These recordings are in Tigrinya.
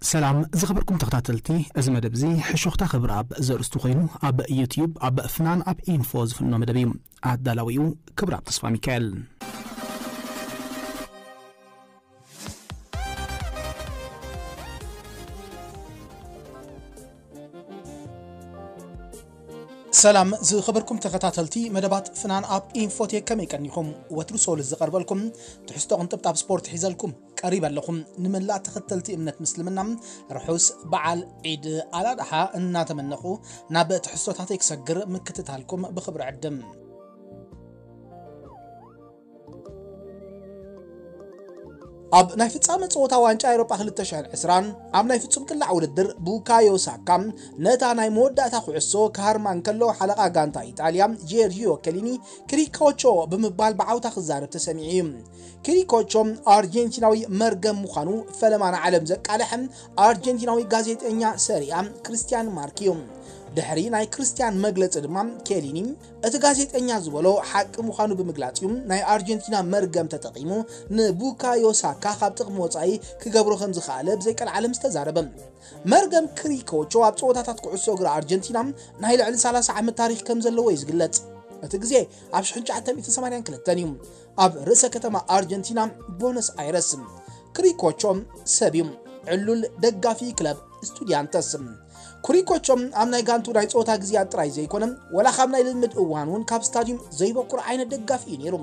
ሰላም ዝኸበርኩም ተኸታተልቲ፣ እዚ መደብ እዚ ሕሾኽታ ክብረኣብ ዘርእስቱ ኮይኑ፣ ኣብ ዩትዩብ ኣብ ፍናን ኣብ ኢንፎ ዝፍኖ መደብ እዩ። ኣዳላዊኡ ክብረኣብ ተስፋ ሚካኤል። ሰላም ዝኸበርኩም ተኸታተልቲ መደባት ፍናን ኣብ ኢንፎቴክ፣ ከመይ ቀኒኹም? ወትሩ ሶሉስ ዝቐርበልኩም ትሕዝቶ ቅንጥብጣብ ስፖርት ሒዘልኩም ቀሪበ ኣለኹም። ንመላእ ተኸተልቲ እምነት ምስልምና ርሑስ በዓል ዒድ ኣላድሓ እናተመነኹ፣ ናብ ትሕዝቶታተይ ክሰግር ምክትታልኩም ብኽብሪ ዕድም። ኣብ ናይ ፍጻመ ጸወታ ዋንጫ ኤውሮጳ ክልተ ሽሕን ዕስራን ኣብ ናይ ፍጹም ቅላዕ ውድድር ቡካዮ ሳካ ነታ ናይ መወዳእታ ኩዕሶ ክሃርማ እንከሎ፣ ሓለቓ ጋንታ ኢጣልያ ጄርጂዮ ከሊኒ ክሪኮቾ ብምባል ብዓውታ ክዛረብ ተሰሚዑ እዩ። ክሪኮቾ ኣርጀንቲናዊ መርገም ምዃኑ ፈለማ ንዓለም ዘቃልሐ ኣርጀንቲናዊ ጋዜጠኛ ሰሪኣ ክርስቲያን ማርክ እዩ። ድሕሪ ናይ ክርስቲያን መግለጺ ድማ ኬሊኒ እቲ ጋዜጠኛ ዝበሎ ሓቂ ምዃኑ ብምግላጽ እዩ ናይ ኣርጀንቲና መርገም ተጠቒሙ ንቡካዮ ሳካ ካብ ጥቕሚ ወጻኢ ክገብሮ ከም ዝኸኣለ ብዘይቀልዓለም ዝተዛረበ። መርገም ክሪኮቾ ኣብ ጸወታታት ኩዕሶ እግሪ ኣርጀንቲና ናይ ልዕሊ ሰላሳ ዓመት ታሪኽ ከም ዘለዎ እዩ ዝግለጽ። እቲ ግዜ ኣብ ሽሕን ትሽዓተ ሚእትን ሰማንያን ክልተን እዩ፣ ኣብ ርእሰ ከተማ ኣርጀንቲና ቦነስ ኣይረስ። ክሪኮቾ ሰብ እዩ፣ ዕሉል ደጋፊ ክለብ ስቱዲያንተስ። ክሪኮቾ ኣብ ናይ ጋንቱ ናይ ጸወታ ግዜያት ጥራይ ዘይኮነ፣ ወላ ካብ ናይ ልምምድ እዋን እውን ካብ ስታዲዩም ዘይበኩር ዓይነት ደጋፊ እዩ ነይሩ።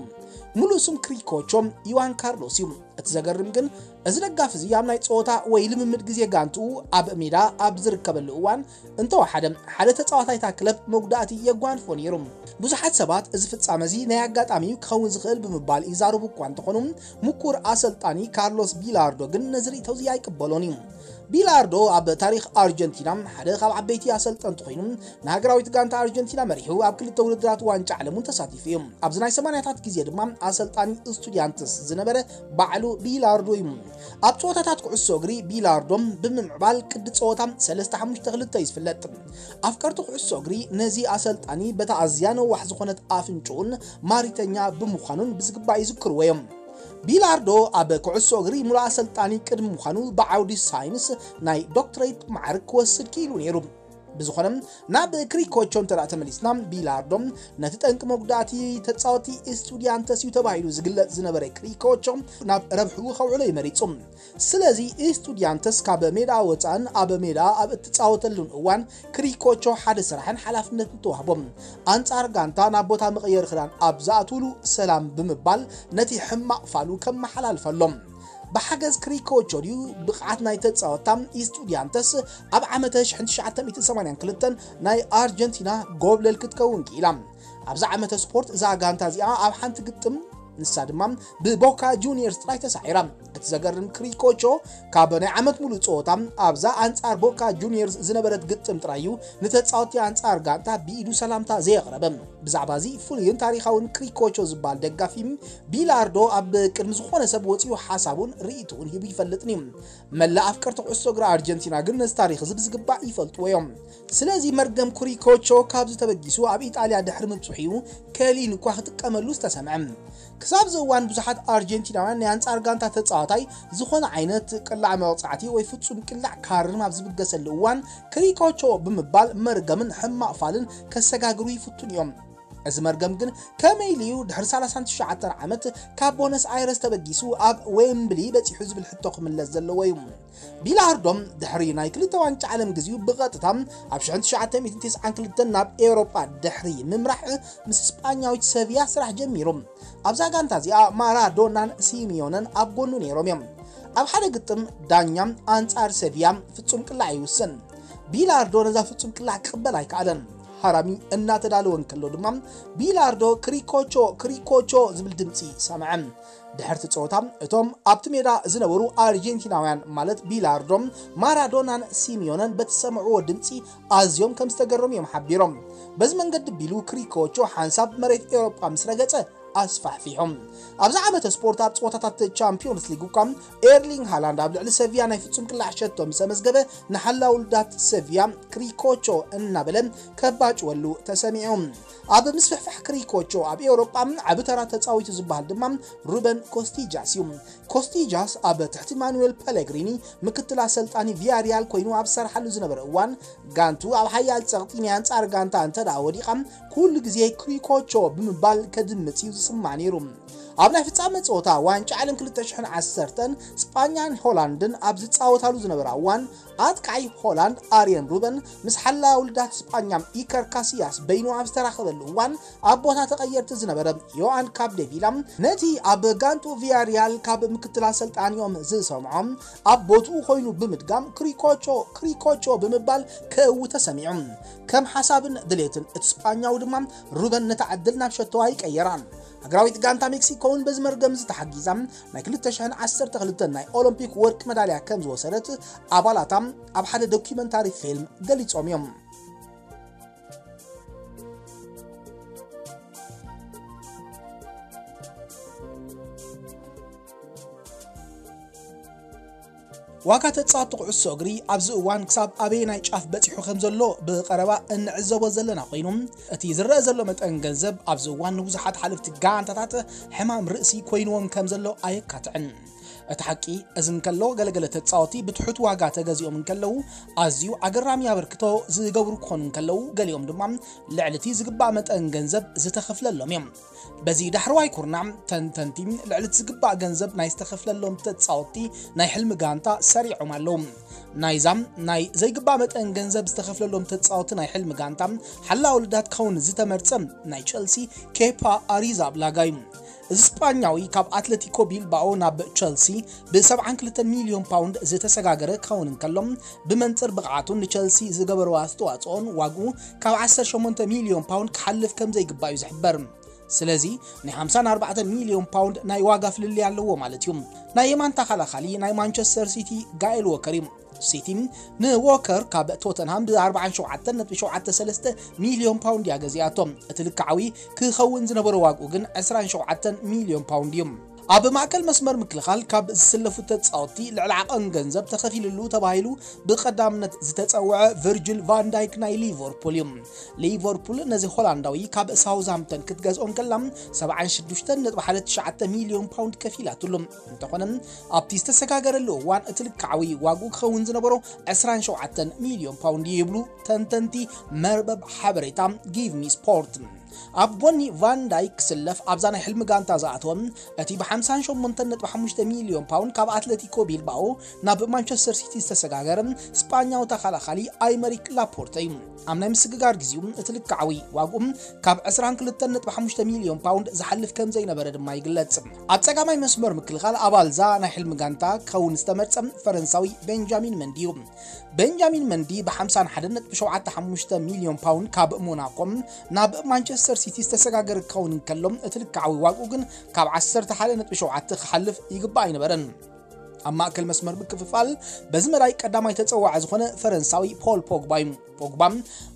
ሙሉእ ስም ክሪኮቾ ዮዋን ካርሎስ እዩ። እቲ ዘገርም ግን፣ እዚ ደጋፊ እዚ ኣብ ናይ ጸወታ ወይ ልምምድ ግዜ ጋንትኡ ኣብ ሜዳ ኣብ ዝርከበሉ እዋን፣ እንተወሓደ ሓደ ተጻዋታይ እታ ክለብ መጉዳእቲ የጓንፎ ነይሩ። ብዙሓት ሰባት እዚ ፍጻመ እዚ ናይ ኣጋጣሚ እዩ ክኸውን ዝኽእል ብምባል ይዛረቡ እኳ እንተኾኑ፣ ምኩር ኣሰልጣኒ ካርሎስ ቢላርዶ ግን ነዚ ርእይቶ እዚ ኣይቅበሎን እዩ። ቢላርዶ ኣብ ታሪኽ ኣርጀንቲና ሓደ ካብ ዓበይቲ ኣሰልጠንቲ ኮይኑ፣ ንሃገራዊት ጋንታ ኣርጀንቲና መሪሑ ኣብ ክልተ ውድድራት ዋንጫ ዓለም እውን ተሳቲፉ እዩ። ኣብዚ ናይ ሰማንያታት ግዜ ድማ ኣሰልጣኒ ስቱዲያንትስ ዝነበረ ባዕሉ ቢላርዶ እዩ። ኣብ ጸወታታት ኩዕሶ እግሪ ቢላርዶ ብምምዕባል ቅዲ ጸወታ ሰለስተ ሓሙሽተ ክልተ እዩ ዝፍለጥ። ኣፍቀርቲ ኩዕሶ እግሪ ነዚ ኣሰልጣኒ በታ ኣዝያ ነዋሕ ዝኾነት ኣፍንጭኡን ማሪተኛ ብምዃኑን ብዝግባእ ይዝክርዎ እዮም። ቢላርዶ ኣብ ኩዕሶ እግሪ ሙሉእ ኣሰልጣኒ ቅድሚ ምዃኑ ብዓውዲ ሳይንስ ናይ ዶክትሬት ማዕርግ ክወስድ ክኢሉ ነይሩ። ብዝኾነ፣ ናብ ክሪኮቾ እንተ ደኣ ተመሊስና፣ ቢላርዶ ነቲ ጠንቂ መጉዳእቲ ተጻወቲ ስቱዲያንተስ እዩ ተባሂሉ ዝግለጽ ዝነበረ ክሪኮቾ ናብ ረብሕኡ ከውዕሎ እዩ መሪጹ። ስለዚ ስቱዲያንተስ ካብ ሜዳ ወጻእን ኣብ ሜዳ ኣብ እትጻወተሉን እዋን ክሪኮቾ ሓደ ስራሕን ሓላፍነትን ተዋህቦ። ኣንጻር ጋንታ ናብ ቦታ መቐየሪ ክዳን ኣብ ዝኣትውሉ ሰላም ብምባል ነቲ ሕማቕ ፋሉ ከመሓላልፈሎም። ብሓገዝ ክሪኮቾ ድዩ ብቕዓት ናይ ተጻወታ ስቱዲያንተስ ኣብ ዓመተ ሽሕን ትሽዓተ ሚእትን ሰማንያን ክልተን ናይ ኣርጀንቲና ጎብለል ክትከውን ክኢላ። ኣብዛ ዓመተ ስፖርት እዛ ጋንታ እዚኣ ኣብ ሓንቲ ግጥም፣ ንሳ ድማ ብቦካ ጁኒየርስ ጥራይ ተሳዒራ። እቲ ዘገርም ክሪኮቾ ካብ ናይ ዓመት ሙሉእ ጸወታ ኣብዛ ኣንጻር ቦካ ጁኒየርስ ዝነበረት ግጥም ጥራይ እዩ ንተጻወቲ ኣንጻር ጋንታ ብኢዱ ሰላምታ ዘየቕረበ። ብዛዕባ እዚ ፍሉይን ታሪኻውን ክሪኮቾ ዝበሃል ደጋፊ ቢላርዶ ኣብ ቅድሚ ዝኾነ ሰብ ወጺኡ ሓሳቡን ርእይቶኡን ሂቡ ይፈልጥን እዩ። መላእ ኣፍቀርቲ ኩዕሶ እግሪ ኣርጀንቲና ግን ነዚ ታሪኽ እዚ ብዝግባእ ይፈልጥዎ እዮም። ስለዚ መርገም ክሪኮቾ ካብዚ ተበጊሱ ኣብ ኢጣልያ ድሕሪ ምብጽሑ እዩ ከሊን እኳ ክጥቀመሉ ዝተሰምዐ። ክሳብ እዚ እዋን ብዙሓት ኣርጀንቲናውያን ናይ ኣንጻር ጋንታ ተጻዋታይ ዝኾነ ዓይነት ቅላዕ መቕጻዕቲ ወይ ፍጹም ቅላዕ ካርም ኣብ ዝብገሰሉ እዋን ክሪኮቾ ብምባል መርገምን ሕማቕ ፋልን ከሰጋግሩ ይፍትኑ እዮም። እዚ መርገም ግን ከመይ ኢሉ እዩ ድሕሪ ሰላሳን ትሽዓተን ዓመት ካብ ቦነስ ኣይረስ ተበጊሱ ኣብ ዌምብሊ በጺሑ ዝብል ሕቶ ክምለስ ዘለዎ እዩ። ቢላርዶ ድሕሪ ናይ ክልተ ዋንጫ ዓለም ግዚኡ ብቐጥታ ኣብ ሽሕን ትሽዓተ ሚእትን ተስዓን ክልተን ናብ ኤውሮጳ ድሕሪ ምምራሕ ምስ ስጳኛዊት ሰቪያ ስራሕ ጀሚሩ። ኣብዛ ጋንታ እዚኣ ማራዶናን ሲሚዮነን ኣብ ጎኑ ነይሮም እዮም። ኣብ ሓደ ግጥም ዳኛ ኣንጻር ሰቪያ ፍጹም ቅላዕ ይውስን። ቢላርዶ ነዛ ፍጹም ቅላዕ ክቕበል ኣይከኣለን። ሃራሚ እናተዳለወ እንከሎ ድማ ቢላርዶ ክሪኮቾ ክሪኮቾ ዝብል ድምጺ ሰምዐ። ድሕርቲ ጸወታ እቶም ኣብቲ ሜዳ ዝነበሩ ኣርጀንቲናውያን ማለት ቢላርዶ፣ ማራዶናን ሲሚዮነን በቲ ዝሰምዕዎ ድምጺ ኣዝዮም ከም ዝተገረሙ እዮም ሓቢሮም። በዚ መንገዲ ቢሉ ክሪኮቾ ሓንሳብ መሬት ኤውሮጳ ምስ ረገጸ ኣስፋሕፊሖም። ኣብዚ ዓመተ ስፖርት ኣብ ጸወታታት ቻምፒዮንስ ሊግ እኳ ኤርሊንግ ሃላንድ ኣብ ልዕሊ ሰቪያ ናይ ፍጹም ቅላዕ ሸቶ ምስ ኣመዝገበ፣ ንሓላው ውልዳት ሰቪያ ክሪኮቾ እናበለ ከባጭወሉ ተሰሚዑ። ኣብ ምስፍሕፋሕ ክሪኮቾ ኣብ ኤውሮጳ ዓቢ ተራ ተጻዊቱ ዝበሃል ድማ ሩበን ኮስቲጃስ እዩ። ኮስቲጃስ ኣብ ትሕቲ ማኑኤል ፐለግሪኒ ምክትል ኣሰልጣኒ ቪያሪያል ኮይኑ ኣብ ዝሰርሓሉ ዝነበረ እዋን፣ ጋንቱ ኣብ ሓያል ጸቕጢ ናይ ኣንጻር ጋንታ እንተ ደኣ ወዲቓ፣ ኩሉ ግዜ ክሪኮቾ ብምባል ከድምጽ እዩ ዝስማዕ ነይሩ። ኣብ ናይ ፍጻመ ጸወታ ዋንጫ ዓለም ክልተ ሽሕን ዓሰርተን ስጳኛን ሆላንድን ኣብ ዝጻወታሉ ዝነበራ እዋን፣ ኣጥቃዒ ሆላንድ ኣርየን ሩበን ምስ ሓላው ውልዳት ስጳኛ ኢከር ካሲያስ በይኑ ኣብ ዝተራኸበሉ እዋን፣ ኣብ ቦታ ተቐየርቲ ዝነበረ ዮኣን ካፕዴቪላ ነቲ ኣብ ጋንቱ ቪያሪያል ካብ ምክትል ኣሰልጣኒኦም ዝሰምዖ ኣብ ቦትኡ ኮይኑ ብምድጋም ክሪኮቾ ክሪኮቾ ብምባል ከእዊ ተሰሚዑ። ከም ሓሳብን ድሌትን እቲ ስጳኛዊ ድማ ሩበን ነታ ዕድል ናብ ሸቶ ኣይቀየራን። ሃገራዊት ጋንታ ሜክሲኮ እውን በዚ መርገም ዝተሓጊዛ ናይ ክልተ ሽሕን ዓሰርተ ክልተን ናይ ኦሎምፒክ ወርቂ መዳልያ ከም ዝወሰደት ኣባላታ ኣብ ሓደ ዶኪመንታሪ ፊልም ገሊጾም እዮም። ዋጋ ተጻወትቲ ኩዕሶ እግሪ ኣብዚ እዋን ክሳብ ኣበየናይ ጫፍ በጺሑ ከም ዘሎ ብቐረባ እንዕዘቦ ዘለና ኮይኑ፣ እቲ ዝረአ ዘሎ መጠን ገንዘብ ኣብዚ እዋን ንብዙሓት ሓለፍቲ ጋንታታት ሕማም ርእሲ ኮይንዎም ከም ዘሎ ኣየካትዕን። እቲ ሓቂ እዚ እንከሎ፣ ገለገለ ተጻወትቲ ብትሑት ዋጋ ተገዚኦም እንከለዉ፣ ኣዝዩ ኣገራሚ ኣበርክቶ ዝገብሩ ክኾኑ እንከለዉ፣ ገሊኦም ድማ ልዕሊ እቲ ዝግባእ መጠን ገንዘብ ዝተኸፍለሎም እዮም። በዚ ዳሕረዋይ ኩርናዕ፣ ተንተንቲ ልዕሊ እቲ ዝግባእ ገንዘብ ናይ ዝተኸፍለሎም ተጻወትቲ ናይ ሕልሚ ጋንታ ሰሪዖም ኣለዉ። ናይዛ ናይ ዘይግባእ መጠን ገንዘብ ዝተኸፍለሎም ተጻወትቲ ናይ ሕልሚ ጋንታ ሓላው ልዳት ክኸውን ዝተመርጸ ናይ ቸልሲ ኬፓ ኣሪዛብላጋ እዩ። እዚ ስጳኛዊ ካብ ኣትለቲኮ ቢልባኦ ናብ ቸልሲ ብ ሰብዓን ክልተን ሚልዮን ፓውንድ ዝተሰጋገረ ክኸውን እንከሎ፣ ብመንጽር ብቕዓቱን ንቸልሲ ዝገበሮ ኣስተዋጽኦን ዋግኡ ካብ ዓሰርተ ሸሞንተ ሚልዮን ፓውንድ ክሓልፍ ከም ዘይግባእ እዩ ዝሕበር። ስለዚ ናይ ሓምሳን ኣርባዕተን ሚልዮን ፓውንድ ናይ ዋጋ ፍልልይ ኣለዎ ማለት እዩ። ናይ የማን ተኸላኻሊ ናይ ማንቸስተር ሲቲ ጋኤል ዎከር እዩ። ሲቲ ንዎከር ካብ ቶተንሃም ብ ኣርባዓን ሸውዓተን ነጥቢ ሸውዓተ ሰለስተ ሚልዮን ፓውንድ እያ ገዚኣቶ። እቲ ልክዓዊ ክኸውን ዝነበሮ ዋግኡ ግን ዕስራን ሸውዓተን ሚልዮን ፓውንድ እዩ። ኣብ ማእከል መስመር ምክልኻል ካብ ዝስለፉ ተጻወትቲ ልዕሊ ዓቐን ገንዘብ ተኸፊልሉ ተባሂሉ ብቐዳምነት ዝተጸውዐ ቨርጅል ቫን ዳይክ ናይ ሊቨርፑል እዩ። ሊቨርፑል ነዚ ሆላንዳዊ ካብ ሳውዝሃምፕተን ክትገዝኦ እንከላ ሰብዓን ሽዱሽተን ነጥቢ ሓደ ትሽዓተ ሚልዮን ፓውንድ ከፊላትሉ። እንተኾነ ኣብቲ ዝተሰጋገረሉ እዋን እቲ ልክዓዊ ዋግኡ ክኸውን ዝነበሮ ዕስራን ሸውዓተን ሚልዮን ፓውንድ እዩ ይብሉ ተንተንቲ መርበብ ሓበሬታ ጊቭ ሚ ስፖርት። ኣብ ጎኒ ቫን ዳይክ ክስለፍ ኣብዛ ናይ ሕልሚ ጋንታ ዝኣተወ እቲ ብ ሓምሳን ሸሞንተን ነጥቢ ሓሙሽተ ሚልዮን ፓውንድ ካብ ኣትለቲኮ ቢልባኦ ናብ ማንቸስተር ሲቲ ዝተሰጋገረ ስጳኛዊ ተኸላኻሊ ኣይመሪክ ላፖርተ እዩ። ኣብ ናይ ምስግጋር ግዜኡ እቲ ልክዓዊ ዋግኡ ካብ ዕስራን ክልተን ነጥቢ ሓሙሽተ ሚልዮን ፓውንድ ዝሓልፍ ከም ዘይነበረ ድማ ይግለጽ። ኣብ ጸጋማይ መስመር ምክልኻል ኣባልዛ ናይ ሕልሚ ጋንታ ክኸውን ዝተመርጸ ፈረንሳዊ ቤንጃሚን መንዲ እዩ። ቤንጃሚን መንዲ ብ ሓምሳን ሓደን ነጥቢ ሸውዓተ ሓሙሽተ ሚልዮን ፓውንድ ካብ ሞናኮ ናብ ማንቸስተር ሲቲ ዝተሰጋገረ ክኸውን እንከሎ፣ እቲ ልክዓዊ ዋግኡ ግን ካብ ዓሰርተ ሓደ ነጥቢ ሸውዓተ ክሓልፍ ይግባእ ኣይነበረን። ኣብ ማእከል መስመር ምክፍፋል በዚ መዳይ ቀዳማይ ተጸዋዒ ዝኾነ ፈረንሳዊ ፖል ፖግባ እዩ። ፖግባ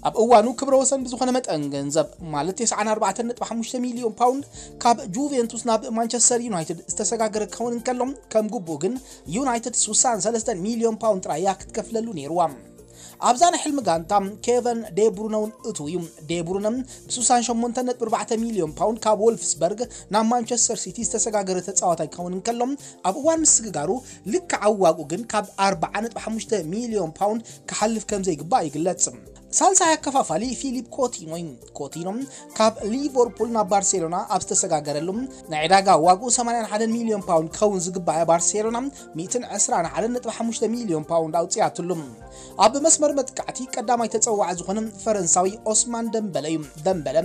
ኣብ እዋኑ ክብረ ወሰን ብዝኾነ መጠን ገንዘብ፣ ማለት ተስዓን ኣርባዕተን ነጥቢ ሓሙሽተ ሚልዮን ፓውንድ፣ ካብ ጁቬንቱስ ናብ ማንቸስተር ዩናይትድ ዝተሰጋገረ ክኸውን እንከሎ፣ ከም ግቡእ ግን ዩናይትድ ስሳን ሰለስተን ሚልዮን ፓውንድ ጥራይ እያ ክትከፍለሉ ነይርዋ። ኣብዛ ናይ ሕልሚ ጋንታ ኬቨን ዴብሩነ እውን እትው እዩ። ዴብሩነ ብ ስሳን ሸሞንተን ነጥቢ ኣርባዕተ ሚልዮን ፓውንድ ካብ ወልፍስበርግ ናብ ማንቸስተር ሲቲ ዝተሰጋገረ ተጻዋታይ ክኸውን እንከሎ፣ ኣብ እዋን ምስግጋሩ ልክዓዊ ዋግኡ ግን ካብ ኣርብዓ ነጥቢ ሓሙሽተ ሚልዮን ፓውንድ ክሓልፍ ከም ዘይግባእ ይግለጽ። ሳልሳይ ኣከፋፋሊ ፊሊፕ ኮቲኖ እዩ። ኮቲኖ ካብ ሊቨርፑል ናብ ባርሴሎና ኣብ ዝተሰጋገረሉ፣ ናይ ዕዳጋ ዋግኡ ሰማንያን ሓደን ሚልዮን ፓውንድ ክኸውን ዝግባእ ባርሴሎና ሚእትን ዕስራን ሓደን ነጥቢ ሓሙሽተ ሚልዮን ፓውንድ ኣውጽኣትሉ። ኣብ መስመር መጥቃዕቲ ቀዳማይ ተጸዋዒ ዝኾነ ፈረንሳዊ ኦስማን ደምበለ እዩ። ደምበለ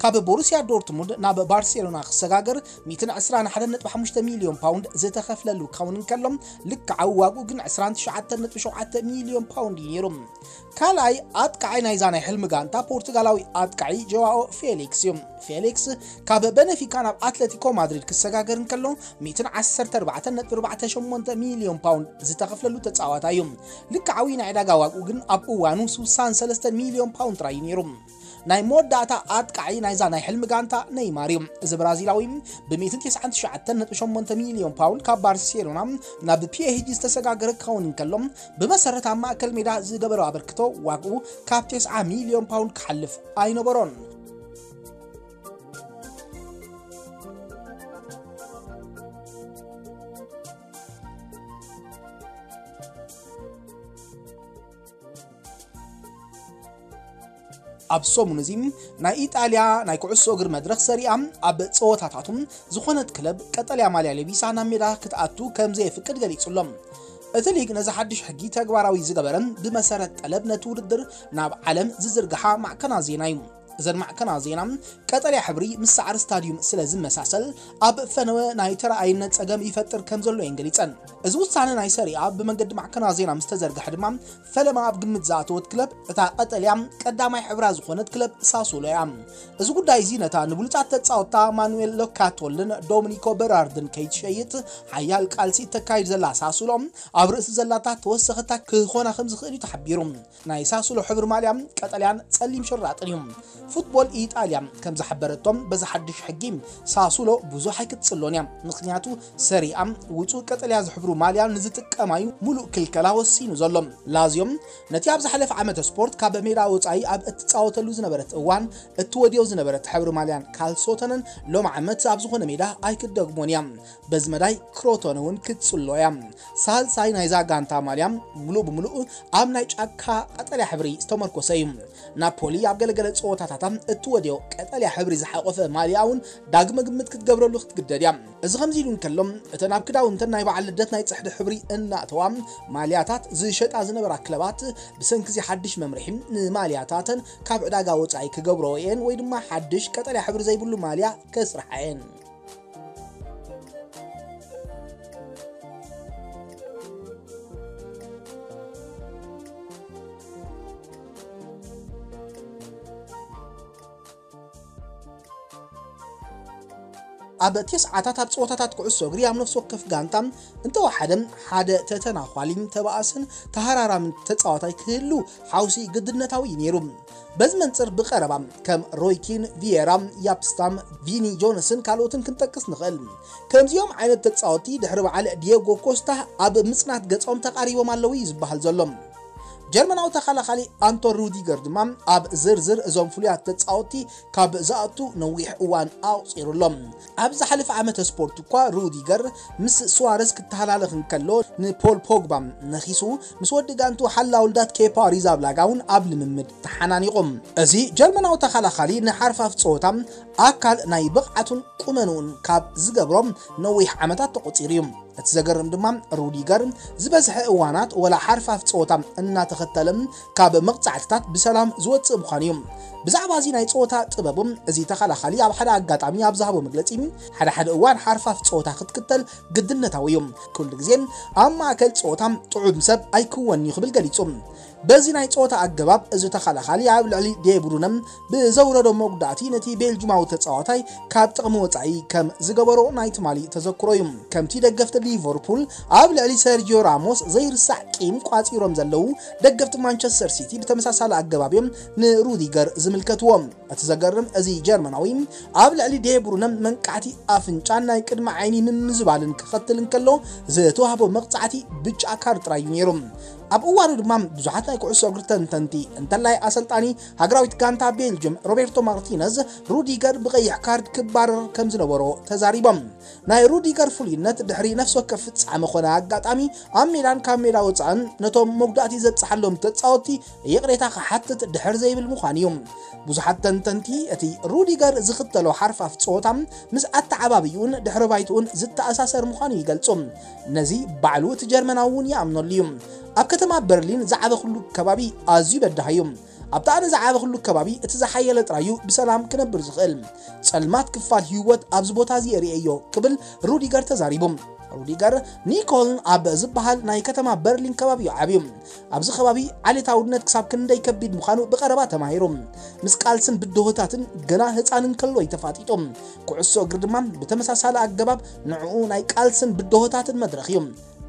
ካብ ቦሩሲያ ዶርትሙንድ ናብ ባርሴሎና ክሰጋገር ሚእትን ዕስራን ሓደን ነጥቢ ሓሙሽተ ሚልዮን ፓውንድ ዝተኸፍለሉ ክኸውን እንከሎ፣ ልክዓዊ ዋግኡ ግን ዕስራን ትሽዓተን ነጥቢ ሸውዓተ ሚልዮን ፓውንድ እዩ ነይሩ። ካልኣይ ኣጥቃዓይ ናይዛ ናይ ሕልሚ ጋንታ ፖርቱጋላዊ ኣጥቃዒ ጆዋኦ ፌሊክስ እዩ። ፌሊክስ ካብ በነፊካ ናብ ኣትለቲኮ ማድሪድ ክሰጋገር እንከሎ፣ ሚእትን ዓሰርተ ኣርባዕተን ነጥቢ ኣርባዕተ ሸሞንተ ሚልዮን ፓውንድ ዝተኸፍለሉ ተጻዋታይ እዩ። ልክዓዊ ናይ ዕዳጋ ዋግኡ ግን ኣብ እዋኑ ስሳን ሰለስተን ሚልዮን ፓውንድ ጥራይ እዩ ነይሩ። ናይ መወዳእታ ኣጥቃዒ ናይዛ ናይ ሕልሚ ጋንታ ኔይማር እዩ። እዚ ብራዚላዊ ብ199.8 ሚልዮን ፓውንድ ካብ ባርሴሎና ናብ ፒኤስጂ ዝተሰጋገረ ክኸውን እንከሎ፣ ብመሰረት ኣብ ማእከል ሜዳ ዝገበሮ ኣበርክቶ ዋግኡ ካብ 90 ሚልዮን ፓውንድ ክሓልፍ ኣይነበሮን። ኣብ ሰሙን እዚ ናይ ኢጣልያ ናይ ኩዕሶ እግሪ መድረኽ ሰሪኣ ኣብ ጸወታታቱ ዝኾነት ክለብ ቀጠልያ ማልያ ለቢሳ ናብ ሜዳ ክትኣቱ ከም ዘየፍቅድ ገሊጹ ኣሎ። እቲ ሊግ ነዚ ሓድሽ ሕጊ ተግባራዊ ዝገበረ ብመሰረት ጠለብ ነቲ ውድድር ናብ ዓለም ዝዝርግሓ ማዕከናት ዜና እዩ። እዘን ማዕከናት ዜና ቀጠልያ ሕብሪ ምስ ሳዕሪ ስታዲዩም ስለ ዝመሳሰል ኣብ ፈነወ ናይ ተረኣይነት ጸገም ይፈጥር ከም ዘሎ እየን ገሊጸን። እዚ ውሳነ ናይ ሰሪኣ ብመንገዲ ማዕከናት ዜና ምስ ተዘርግሐ ድማ ፈለማ ኣብ ግምት ዝኣተወት ክለብ እታ ቀጠልያ ቀዳማይ ሕብራ ዝኾነት ክለብ ሳሱሎ እያ። እዚ ጉዳይ እዚ ነታ ንብሉጻት ተጻወትታ ማኑኤል ሎካቶልን ዶሚኒኮ በራርድን ከይትሸይጥ ሓያል ቃልሲ እተካይድ ዘላ ሳሱሎ ኣብ ርእሲ ዘላታ ተወሰኸታ ክኾና ከም ዝኽእል እዩ ተሓቢሩ። ናይ ሳሱሎ ሕብሪ ማልያ ቀጠልያን ጸሊም ሽራጥን እዩ። ፉትቦል ኢጣልያ ከም ዝሓበረቶም በዚ ሓድሽ ሕጊ ሳሱሎ ብዙሕ ኣይክትጽሎን እያ። ምኽንያቱ ሰሪኣ ውጹእ ቀጠልያ ዝሕብሩ ማልያ ንዝጥቀማዩ ሙሉእ ክልከላ ወሲኑ ዘሎ። ላዚዮ ነቲ ኣብ ዝሓለፈ ዓመተ ስፖርት ካብ ሜዳ ወጻኢ ኣብ እትጻወተሉ ዝነበረት እዋን እትወድዮ ዝነበረት ሕብሪ ማልያን ካልሶተንን ሎም ዓመት ኣብ ዝኾነ ሜዳ ኣይክትደግሞን እያ። በዚ መዳይ ክሮቶነ እውን ክትጽሎ እያ። ሳልሳይ ናይዛ ጋንታ ማልያ ሙሉእ ብሙሉእ ኣብ ናይ ጫካ ቀጠልያ ሕብሪ ዝተመርኮሰ እዩ። ናፖሊ ኣብ ገለገለ ጸወታታታ እትወድዮ ቀጠልያ ሕብሪ ዝሓቆፈ ማልያ እውን ዳግመ ግምት ክትገብረሉ ክትግደድ እያ። እዚ ከምዚ ኢሉ እንከሎ፣ እተን ኣብ ክዳውንተን ናይ በዓል ልደት ናይ ጽሕዲ ሕብሪ እናእተዋ ማልያታት ዝሸጣ ዝነበራ ክለባት ብሰንኪ እዚ ሓድሽ መምርሒ ንማልያታተን ካብ ዕዳጋ ወጻኢ ክገብረኦ እየን ወይ ድማ ሓድሽ ቀጠልያ ሕብሪ ዘይብሉ ማልያ ከስርሓ እየን። ኣብ ተስዓታት ኣብ ጸወታታት ኩዕሶ እግሪ ኣብ ነፍሲ ወከፍ ጋንታ እንተወሓደ ሓደ ተተናዃሊ፣ ተባኣስን ተሃራራምን ተጻዋታይ ክህሉ ሓውሲ ግድነታዊ እዩ ነይሩ። በዚ መንጽር ብቐረባ ከም ሮይኪን፣ ቪየራ፣ ያፕስታም፣ ቪኒ ጆንስን ካልኦትን ክንጠቅስ ንኽእል። ከምዚኦም ዓይነት ተጻወትቲ ድሕሪ በዓል ዲየጎ ኮስታ ኣብ ምጽናት ገጾም ተቓሪቦም ኣለዉ እዩ ዝበሃል ዘሎ። ጀርመናዊ ተኸላኻሊ ኣንቶን ሩዲገር ድማ ኣብ ዝርዝር እዞም ፍሉያት ተጻወትቲ ካብ ዝኣቱ ነዊሕ እዋን ኣቑጺሩ ኣሎ። ኣብ ዝሓለፈ ዓመተ ስፖርት እኳ ሩዲገር ምስ ሱዋረዝ ክተሃላለኽ እንከሎ፣ ንፖል ፖግባ ነኺሱ ምስ ወዲ ጋንቱ ሓላው ልዳት ኬፓ ኣሪዛብላጋ እውን ኣብ ልምምድ ተሓናኒቑ። እዚ ጀርመናዊ ተኸላኻሊ ንሓርፋፍ ጸወታ ኣካል ናይ ብቕዓቱን ቁመንኡን ካብ ዝገብሮም ነዊሕ ዓመታት ተቖጺሩ እዩ። እቲ ዘገርም ድማ ሩዲገር ዝበዝሐ እዋናት ወላ ሓርፋፍ ጸወታ እናተኸተለ ካብ መቕጻዕትታት ብሰላም ዝወጽእ ምዃኑ እዩ። ብዛዕባ እዚ ናይ ጸወታ ጥበቡ እዚ ተኸላኻሊ ኣብ ሓደ ኣጋጣሚ ኣብ ዝሃቦ መግለጺ፣ ሓደ ሓደ እዋን ሓርፋፍ ጸወታ ክትክተል ግድነታዊ እዩ። ኩሉ ግዜ ኣብ ማእከል ጸወታ ጥዑም ሰብ ኣይክወን እዩ ክብል ገሊጹ። በዚ ናይ ጸወታ ኣገባብ እዚ ተኸላኻሊ ኣብ ልዕሊ ዴብሩነ ብዘውረዶ መጉዳእቲ ነቲ ቤልጅማዊ ተጻዋታይ ካብ ጥቕሚ ወጻኢ ከም ዝገበሮ ናይ ትማሊ ተዘክሮ እዩ። ከምቲ ደገፍቲ ሊቨርፑል ኣብ ልዕሊ ሰርጂዮ ራሞስ ዘይርሳዕ ቂም ቋጺሮም ዘለዉ ደገፍቲ ማንቸስተር ሲቲ ብተመሳሳሊ ኣገባብ እዮም ንሩዲገር ዝምልከትዎ። እቲ ዘገርም እዚ ጀርመናዊ ኣብ ልዕሊ ዴብሩነ መንቃዕቲ ኣፍንጫን ናይ ቅድሚ ዓይኒ ምምዝባልን ክኸትል እንከሎ ዝተዋህቦ መቕጻዕቲ ብጫ ካርድ ጥራይ እዩ ነይሩ። ኣብ እዋኑ ድማ ብዙሓት ናይ ኩዕሶ እግሪ ተንተንቲ እንተላይ ኣሰልጣኒ ሃገራዊት ጋንታ ቤልጅም ሮቤርቶ ማርቲነዝ ሩዲገር ብቐይሕ ካርድ ክባረር ከም ዝነበሮ ተዛሪቦም። ናይ ሩዲገር ፍሉይነት ድሕሪ ነፍሲ ወከፍ ፍጻመ ኾነ ኣጋጣሚ ኣብ ሜዳን ካብ ሜዳ ወጻእን ነቶም መጉዳእቲ ዘብጽሓሎም ተጻወትቲ ይቕሬታ ክሓትት ድሕር ዘይብል ምዃኑ እዩ። ብዙሓት ተንተንቲ እቲ ሩዲገር ዝኽተሎ ሓርፋፍ ጸወታ ምስ ኣተዓባብይኡን ድሕሪ ባይትኡን ዝተኣሳሰር ምዃኑ ይገልጹ። ነዚ ባዕሉ እቲ ጀርመናዊ እውን ይኣምነሉ እዩ። ኣብ ከተማ በርሊን ዝዓበኹሉ ከባቢ ኣዝዩ በዳሂ እዩ። ኣብቲ ኣነ ዝዓበኹሉ ከባቢ እቲ ዝሓየለ ጥራይ እዩ ብሰላም ክነብር ዝኽእል። ጸልማት ክፋል ህይወት ኣብዚ ቦታ እዚ የርእየዮ ክብል ሩዲገር ተዛሪቡ። ሩዲገር ኒኮልን ኣብ ዝበሃል ናይ ከተማ በርሊን ከባቢ እዩ ዓብዩ። ኣብዚ ከባቢ ዓሌታውነት ክሳብ ክንደይ ከቢድ ምዃኑ ብቐረባ ተማሂሩ። ምስ ቃልስን ብድሆታትን ገና ህፃን እንከሎ እዩ ተፋጢጡ። ኩዕሶ እግሪ ድማ ብተመሳሳሊ ኣገባብ ንዕኡ ናይ ቃልስን ብድሆታትን መድረኽ እዩ።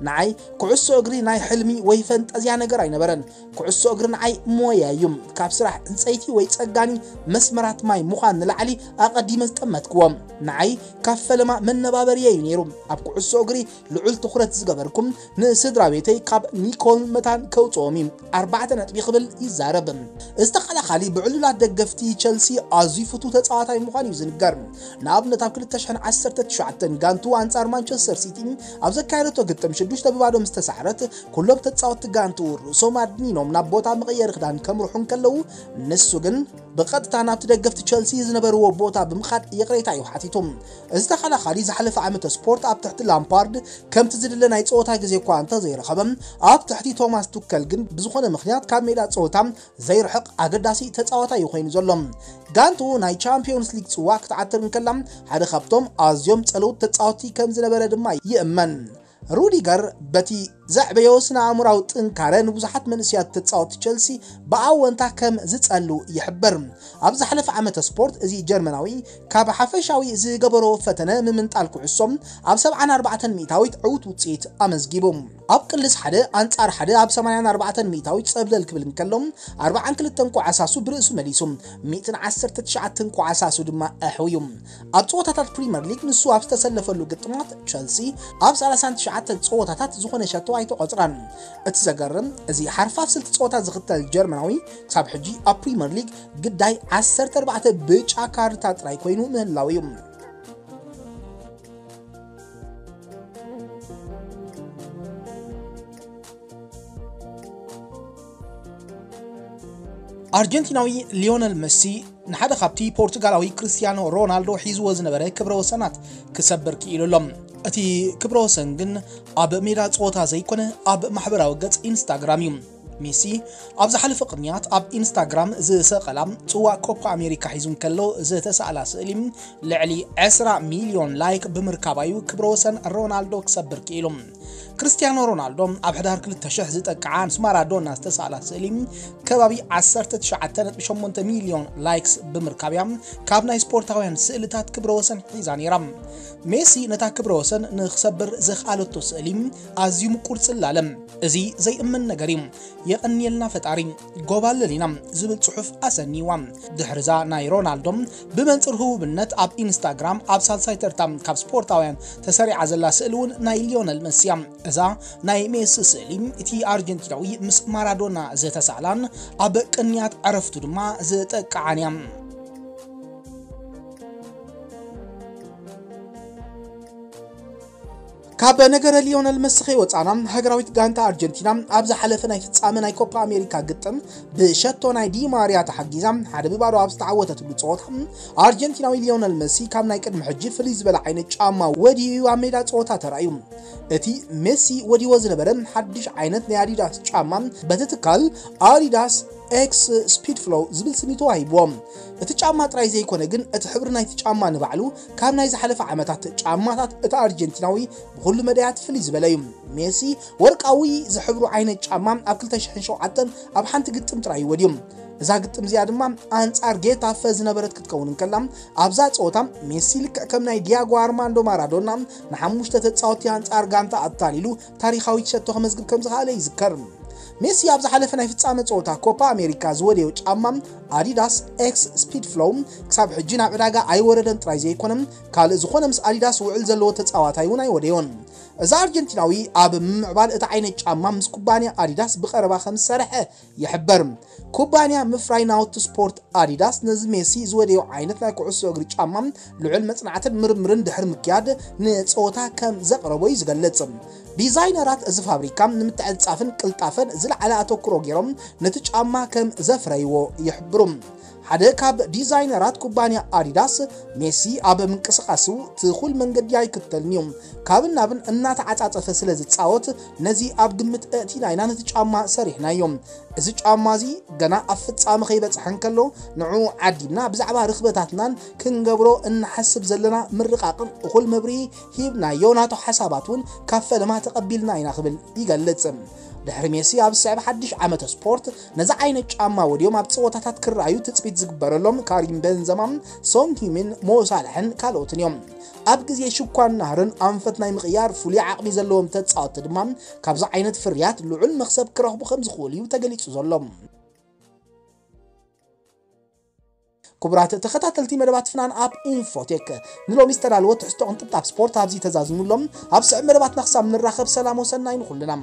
ንዓይ ኩዕሶ እግሪ ናይ ሕልሚ ወይ ፈንጠዝያ ነገር ኣይነበረን። ኩዕሶ እግሪ ንዓይ ሞያ እዩ። ካብ ስራሕ ዕንጸይቲ ወይ ጸጋኒ መስመራት ማይ ምዃን ንላዕሊ ኣቐዲመ ዝጠመትክዎ። ንዓይ ካብ ፈለማ መነባበሪ እዩ ነይሩ። ኣብ ኩዕሶ እግሪ ልዑል ትኹረት ዝገበርኩም ንስድራ ቤተይ ካብ ኒኮል መታን ከውፅኦም እዩ። ኣርባዕተ ነጥቢ ክብል ይዛረብ። እዚ ተኸላኻሊ ብዕሉላት ደገፍቲ ቸልሲ ኣዝዩ ፍቱ ተፃዋታይ ምዃን እዩ ዝንገር። ንኣብነት ኣብ ክልተ ሽሕን ዓሰርተ ትሽዓተን ጋንቱ ኣንፃር ማንቸስተር ሲቲ ኣብ ዘካየደቶ ግጥም ሽዱሽተ ብባዶ ምስ ተሳዕረት ኩሎም ተፃወትቲ ጋንቱ ርእሶም ኣድኒኖም ናብ ቦታ መቐየሪ ክዳን ከምርሑ እንከለዉ ንሱ ግን ብቐጥታ ናብቲ ደገፍቲ ቸልሲ ዝነበርዎ ቦታ ብምኻድ ይቕሬታ እዩ ሓቲቱ። እዚ ተኸላኻሊ ዝሓለፈ ዓመተ ስፖርት ኣብ ትሕቲ ላምፓርድ ከምቲ ዝድለ ናይ ጸወታ ግዜ እኳ እንተዘይረኸበ፣ ኣብ ትሕቲ ቶማስ ቱከል ግን ብዝኾነ ምኽንያት ካብ ሜዳ ጸወታ ዘይርሕቕ ኣገዳሲ ተጻዋታይ እዩ ኮይኑ ዘሎ። ጋንቱ ናይ ቻምፒዮንስ ሊግ ጽዋ ክትዓትር እንከላ ሓደ ካብቶም ኣዝዮም ጸለውት ተጻወትቲ ከም ዝነበረ ድማ ይእመን። ሩዲገር በቲ ዘዕበዮ ስነ ኣእምራዊ ጥንካረ ንብዙሓት መንእሰያት ተጻወቲ ቸልሲ ብኣወንታ ከም ዝጸሉ ይሕብር። ኣብ ዝሓለፈ ዓመተ ስፖርት እዚ ጀርመናዊ ካብ ሓፈሻዊ ዝገበሮ ፈተነ ምምንጣል ኩዕሶ ኣብ ሰብዓን ኣርባዕተን ሚእታዊት ዕዉት ውጽኢት ኣመዝጊቡ። ኣብ ቅልስ ሓደ ኣንጻር ሓደ ኣብ ሰማንያን ኣርባዕተን ሚእታዊት ጸብለል ክብል እንከሎ ኣርባዓን ክልተን ኳዕሳሱ ብርእሱ መሊሱ ሚእትን ዓሰርተ ትሽዓተን ኳዕሳሱ ድማ ኣሕውዩ። ኣብ ጸወታታት ፕሪምየር ሊግ ንሱ ኣብ ዝተሰለፈሉ ግጥማት ቸልሲ ኣብ ሰላሳን ትሽዓተን ጸወታታት ዝኾነ ሸቶ ኣይተቖጽራን። እቲ ዘገርም እዚ ሓርፋፍ ስልቲ ጸወታ ዝኽተል ጀርመናዊ ክሳብ ሕጂ ኣብ ፕሪምየር ሊግ ግዳይ ዓሰርተ ኣርባዕተ ብጫ ካርድታት ጥራይ ኮይኑ ምህላው እዩ። ኣርጀንቲናዊ ሊዮነል መሲ ንሓደ ካብቲ ፖርቱጋላዊ ክርስቲያኖ ሮናልዶ ሒዝዎ ዝነበረ ክብረ ወሰናት ክሰብር ክኢሉ ኣሎ። እቲ ክብረ ወሰን ግን ኣብ ሜዳ ጸወታ ዘይኮነ ኣብ ማሕበራዊ ገጽ ኢንስታግራም እዩ። ሜሲ ኣብ ዝሓለፈ ቅንያት ኣብ ኢንስታግራም ዝሰቐላ ጽዋእ ኮፓ ኣሜሪካ ሒዙ እንከሎ ዝተሳእላ ስእሊ ልዕሊ ዕስራ ሚልዮን ላይክ ብምርካባ እዩ ክብረ ወሰን ሮናልዶ ክሰብር ክኢሉ። ክርስቲያኖ ሮናልዶ ኣብ ሕዳር ክልተ ሽሕ ዝጠቅዓ ምስ ማራዶና ዝተሳእላ ስእሊ ከባቢ ዓሰርተ ትሽዓተ ነጥቢ ሸሞንተ ሚልዮን ላይክስ ብምርካብ እያ ካብ ናይ ስፖርታውያን ስእልታት ክብረ ወሰን ሒዛ ነይራ። ሜሲ ነታ ክብረ ወሰን ንክሰብር ዘኽኣለቶ ስእሊ ኣዝዩ ምቁር ጽላለ። እዚ ዘይእመን ነገር እዩ። የቐንየልና ፈጣሪ፣ ጎባልል ኢና ዝብል ጽሑፍ ኣሰንይዋ። ድሕርዛ ናይ ሮናልዶ ብመንጽር ህቡብነት ኣብ ኢንስታግራም ኣብ ሳልሳይ ተርታ ካብ ስፖርታውያን ተሰሪዓ ዘላ ስእሊ እውን ናይ ሊዮነል መሲ እያ። እዛ ናይ ሜሲ ስእሊ እቲ ኣርጀንቲናዊ ምስ ማራዶና ዝተሳእላን ኣብ ቅንያት ዕረፍቱ ድማ ዝጠቅዓን እያ። ካብ ነገረ ሊዮነል መሲ ከይወጻና፣ ሃገራዊት ጋንታ ኣርጀንቲና ኣብ ዝሓለፈ ናይ ፍጻመ ናይ ኮፓ ኣሜሪካ ግጥም ብሸቶ ናይ ዲማርያ ተሓጊዛ ሓደ ብባዶ ኣብ ዝተዓወተትሉ ጸወታ፣ ኣርጀንቲናዊ ሊዮነል መሲ ካብ ናይ ቅድሚ ሕጂ ፍልይ ዝበለ ዓይነት ጫማ ወዲኡ ኣብ ሜዳ ጸወታ ተራእዩ። እቲ ሜሲ ወዲዎ ዝነበረ ሓድሽ ዓይነት ናይ ኣዲዳስ ጫማ በቲ ትካል ኣዲዳስ ኤክስ ስፒድ ፍሎው ዝብል ስም ተዋሂብዎ። እቲ ጫማ ጥራይ ዘይኮነ ግን እቲ ሕብሪ ናይቲ ጫማ ንባዕሉ ካብ ናይ ዝሓለፈ ዓመታት ጫማታት እቲ ኣርጀንቲናዊ ብኹሉ መዳያት ፍልይ ዝበለ እዩ። ሜሲ ወርቃዊ ዝሕብሩ ዓይነት ጫማ ኣብ ክልተ ሽሕን ሸውዓተን ኣብ ሓንቲ ግጥም ጥራይ እዩ ወድዩ። እዛ ግጥም እዚኣ ድማ ኣንጻር ጌታፈ ዝነበረት ክትከውን እንከላ ኣብዛ ጸወታ ሜሲ ልክዕ ከም ናይ ዲያጎ ኣርማንዶ ማራዶና ንሓሙሽተ ተጻወቲ ኣንጻር ጋንታ ኣታሊሉ ታሪኻዊት ሸቶ ከመዝግብ ከም ዝኸኣለ ይዝከር። ሜሲ ኣብ ዝሓለፈ ናይ ፍጻመ ጸወታ ኮፓ ኣሜሪካ ዝወደዮ ጫማ ኣዲዳስ ኤክስ ስፒድ ፍሎው ክሳብ ሕጂ ናብ ዕዳጋ ኣይወረደን ጥራይ ዘይኮነ ካልእ ዝኾነ ምስ ኣዲዳስ ውዕል ዘለዎ ተጻዋታይ እውን ኣይወደዮን። እዚ ኣርጀንቲናዊ ኣብ ምምዕባል እቲ ዓይነት ጫማ ምስ ኩባንያ ኣዲዳስ ብቐረባ ከም ዝሰርሐ ይሕበር። ኩባንያ ምፍራይ ናውቲ ስፖርት ኣዲዳስ ነዚ ሜሲ ዝወደዮ ዓይነት ናይ ኩዕሶ እግሪ ጫማ ልዑል መጽናዕትን ምርምርን ድሕሪ ምክያድ ንጸወታ ከም ዘቕረቦ እዩ ዝገልጽ። ዲዛይነራት እዚ ፋብሪካ ንምትዕጻፍን ቅልጣፈን ዝለዓለ ኣተኩሮ ገይሮም ነቲ ጫማ ከም ዘፍረይዎ ይሕብሩ። ሓደ ካብ ዲዛይነራት ኩባንያ ኣዲዳስ ሜሲ ኣብ ምንቅስቓሱ ትኹል መንገዲ ኣይክተልን እዩ። ካብን ናብን እናተዓጻጸፈ ስለ ዝጻወት ነዚ ኣብ ግምት ኣእቲና ኢና ነቲ ጫማ ሰሪሕናዮ። እዚ ጫማ እዚ ገና ኣብ ፍጻመ ከይበጽሐ እንከሎ ንዕኡ ዓዲምና ብዛዕባ ርኽበታትናን ክንገብሮ እንሓስብ ዘለና ምርቓቕን እኹል መብርሂ ሂብናዮ። ናቱ ሓሳባት እውን ካብ ፈለማ ተቐቢልና ኢና ክብል ይገልጽ። ድሕሪ ሜሲ ኣብ ዝስዕብ ሓድሽ ዓመተ ስፖርት ነዚ ዓይነት ጫማ ወዲዮም ኣብ ጸወታታት ክረኣዩ ትጽቢት ዝግበረሎም ካሪም ቤንዘማ፣ ሶን ሂሚን፣ ሞሳላሕን ካልኦትን እዮም። ኣብ ግዜ ሽኳን ናህርን ኣንፈት ናይ ምቕያር ፍሉይ ዓቕሚ ዘለዎም ተጻወትቲ ድማ ካብዚ ዓይነት ፍርያት ልዑል መኽሰብ ክረኽቡ ከም ዝኽእሉ እዩ ተገሊጹ ዘሎ። ክቡራት ተኸታተልቲ መደባት ፍናን ኣብ ኢንፎቴክ፣ ንሎሚ ዝተዳለወ ትሕዝቶ ቅንጥብጣብ ስፖርት ኣብዚ ተዛዚሙ ኣሎ። ኣብ ስዕብ መደባትና ክሳብ ንራኸብ ሰላም ወሰናይ ንኹልና።